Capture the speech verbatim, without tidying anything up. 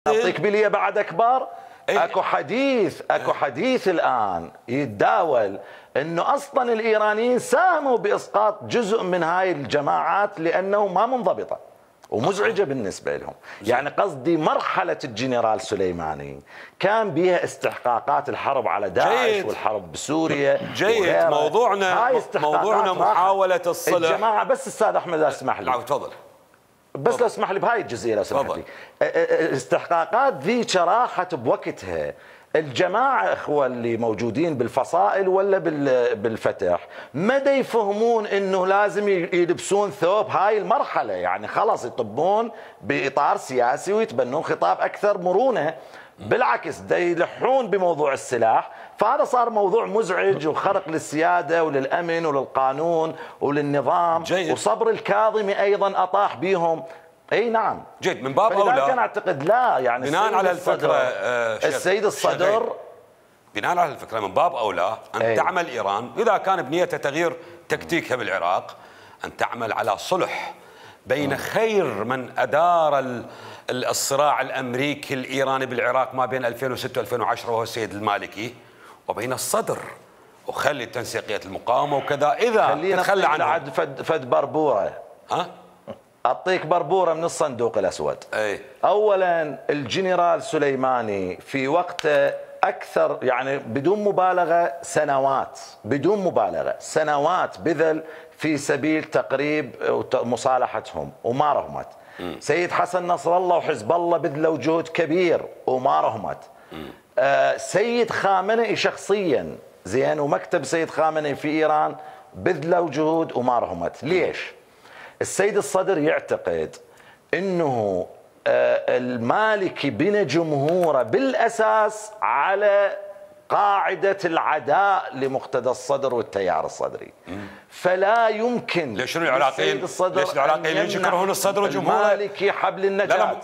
اعطيك بليه بعد اكبر. إيه؟ اكو حديث اكو حديث الان يتداول انه اصلا الايرانيين ساهموا باسقاط جزء من هاي الجماعات لانه ما منضبطه ومزعجه بالنسبه لهم. يعني قصدي مرحله الجنرال سليماني كان بها استحقاقات الحرب على داعش جيد. والحرب بسوريا. جيد. موضوعنا موضوعنا محاوله الصلح. الجماعه بس استاذ احمد اسمح لي. نعم تفضل. بس لو اسمح لي بهاي الجزئيه لو سمحت لي. الاستحقاقات ذي راحت بوقتها. الجماعه اخوه اللي موجودين بالفصائل ولا بالفتح مدى يفهمون انه لازم يلبسون ثوب هاي المرحله، يعني خلاص يطبون باطار سياسي ويتبنون خطاب اكثر مرونه. بالعكس دا يلحون بموضوع السلاح، فهذا صار موضوع مزعج وخرق للسياده وللامن وللقانون وللنظام. جيد. وصبر الكاظمي ايضا اطاح بهم. اي نعم. جيد. من باب اولى كان اعتقد لا يعني بناء على الفكره آه السيد الصدر بناء على الفكره من باب اولى ان أي. تعمل ايران اذا كان بنيتها تغيير تكتيكها بالعراق ان تعمل على صلح بين خير من ادار الصراع الامريكي الايراني بالعراق ما بين ألفين وستة وألفين وعشرة وهو السيد المالكي، وبين الصدر وخلي تنسيقيه المقاومه وكذا اذا تتخلى عنه. فد, فد بربوره ها اعطيك بربوره من الصندوق الاسود. اي اولا الجنرال سليماني في وقته اكثر يعني بدون مبالغه سنوات بدون مبالغه سنوات بذل في سبيل تقريب مصالحتهم وما رهمت. سيد حسن نصر الله وحزب الله بذلوا جهد كبير وما رهمت. آه سيد خامنئي شخصيا زين ومكتب سيد خامنئي في ايران بذلوا جهود وما رهمت. ليش؟ السيد الصدر يعتقد انه آه المالكي بنى جمهوره بالاساس على قاعده العداء لمقتدى الصدر والتيار الصدري. فلا يمكن ليش العراقيين ليش العراقيين يكرهون الصدر وجمهوره؟ المالكي حبل النجاة.